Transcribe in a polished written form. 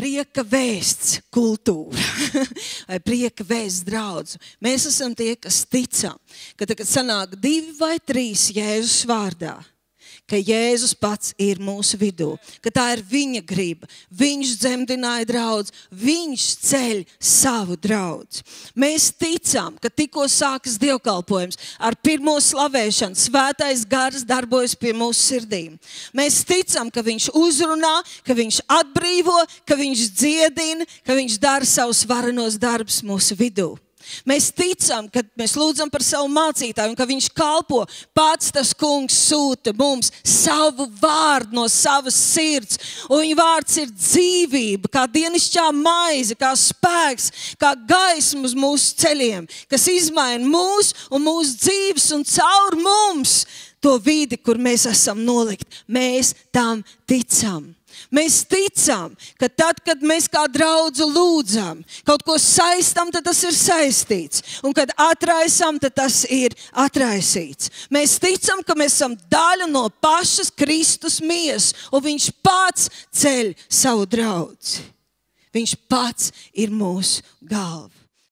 prieka vēsts kultūra vai prieka vēsts draudz. Mēs esam tie, kas ticam, ka tagad sanāk 2 vai 3 Jēzus vārdā, ka Jēzus pats ir mūsu vidū, ka tā ir viņa griba. Viņš dzemdināja draudz, viņš ceļ savu draudz. Mēs ticam, ka tikko sākas dievkalpojums ar pirmo slavēšanu, svētais gars darbojas pie mūsu sirdīm. Mēs ticam, ka viņš uzrunā, ka viņš atbrīvo, ka viņš dziedina, ka viņš dara savus varenos darbus mūsu vidū. Mēs ticam, ka mēs lūdzam par savu mācītāju un ka viņš kalpo. Pats tas kungs sūta mums savu vārdu no savas sirds. Un viņa vārds ir dzīvība, kā dienišķā maize, kā spēks, kā gaisma uz mūsu ceļiem, kas izmaina mūs un mūsu dzīves un caur mums to vidi, kur mēs esam nolikt. Mēs tam ticam. Mēs ticam, ka tad, kad mēs kā draudzu lūdzam, kaut ko saistam, tad tas ir saistīts. Un kad atraisam, tad tas ir atraisīts. Mēs ticam, ka mēs esam daļa no pašas Kristus miesas, un viņš pats ceļ savu draudzi. Viņš pats ir mūsu galva.